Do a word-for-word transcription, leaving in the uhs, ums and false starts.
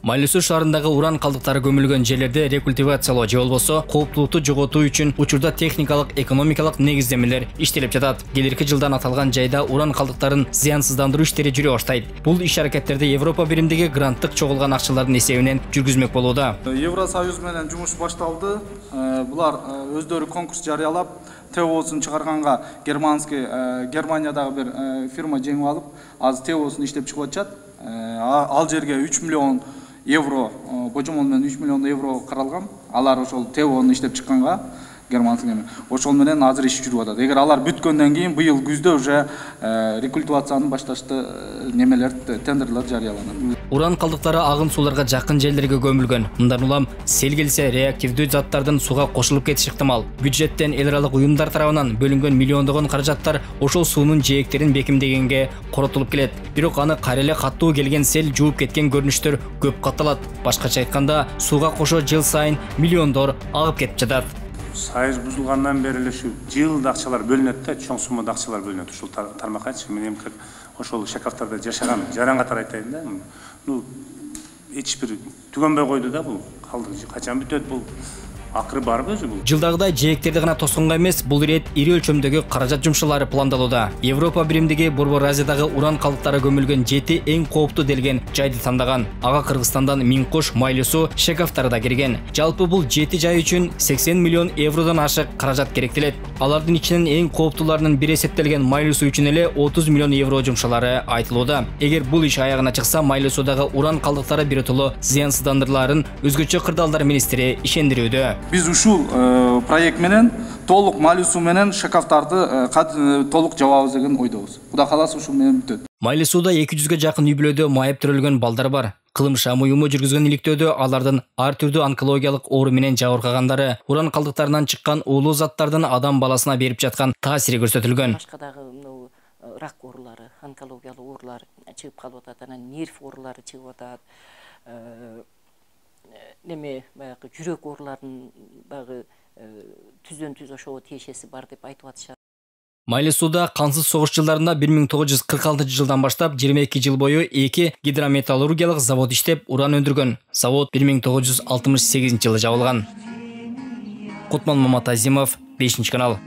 Майлы Суу шаарындагы уран калдыктары көмүлгөн жерлерде рекультивациялоо же болбосо кооптулукту жоготуу үчүн учурда техникалык, экономикалык негиздемелер иштелип жатат. Келерки жылдан аталган жайда уран калдыктарын зыянсыздандыруу иштери жүрө баштайт. Бул иш-аракеттерди Европа биримдиги гранттык чогулган акчалардын эсебинен жүргүзмөк болууда. Евросоюз менен жумуш башталды. Булар өздөрү конкурс жарыялап, ТОсун чыгарганга германский Германиядагы бир фирма жеңип алып, азыр ТОсун иштеп чыгып атышат. Ал жерге үч миллион евро, божомол менен үч миллион евро каралган. Алар ошол ТОну иштеп чыкканга германский эме. Ошол менен азыр иш жүрүп атат. Эгер алар бүткөндөн кийин быйыл күздө уже рекультивацияны башташты, немелер, тендерлер жарыяланат. Уран калдыктары агын сууларга жакын жерлерге көмүлгөн. Мындан улам сел келсе реактивдүү заттардын суга кошулуп кетиши ыктымал. Бюджеттен эл аралык уюмдар тарабынан бөлүнгөн миллиондогон каражаттар ошол суунун жээктерин бекемдегенге коротулуп келет. Бирок аны кайра эле каттуу келген сел жууп кеткен көрүнүштөр көп катталат. Башкача айтканда, сууга кошо жыл сайын миллиондор агып кетип жатат. Сайыз бузулгандан бери эле ушу жылда акчалар бөлүнөт да, чоң суммада акчалар бөлүнөт ушул тармаккачы. Мен эми ошол Шакавтарда жашаган жаран катары айтайын да. Ну, эч бир түгөнбөй койду да бул. Калды качан бүтөт бул? Акыры барбы өзү бул? Жылдагыдай жээктерди гана тосконго эмес, бул ирет ири өлчөмдөгү каражат жумшалары пландалууда. Европа биримдиги Борбор Азиядагы уран калдыктары көмүлгөн жети эң кооптуу делген жайды тандаган. Ага Кыргызстандан Минкош, Майлы Суу, Шакавтары да кирген. Жалпы бул жети жай үчүн сексен миллион евродон ашык каражат керектелет. Алардын ичинен эң кооптууларынын бири эсептелген Майлы Суу үчүн эле отуз миллион евро жумшалары айтылууда. Эгер бул иш аягына чыкса, Майлы Суудагы уран калдыктары биротоло зыянсыздандырыларын өзгөчө кырдаалдар министри ишендирүүдө. Биз ушул проект менен толук Майлы Суу менен Шакавтарды толук жабабыз деген ойдобуз. Кудай кааласа ушул менен бүтөт. Майлы Сууда эки жүзгө жакын үй-бүлөдө майып төрөлгөн балдар бар. Кылым шам уюму жүргүзгөн иликтөөдө алардын ар түрдүү онкологиялык оору менен жабыркагандар уран калдыктарынан чыккан уулуу заттардын адам баласына берип жаткан таасири көрсөтүлгөн. Башкадагы рак оорулары, онкологиялык оорулар чыгып калып атат, анан нерв оорулары чыгып атат. Неме баягы жүрөк ооруларынын баягы түздөн түз ошого тиешеси бар деп айтып атышат. Майлы Сууда кансыз согуш жылдарында бир миң тогуз жүз кырк алтынчы жылдан баштап жыйырма эки жыл бою эки гидрометаллургиялык завод иштеп, уран өндүргөн. Завод бир миң тогуз жүз алтымыш сегизинчи жылы жабылган. Кутман Маматазимов, бешинчи канал.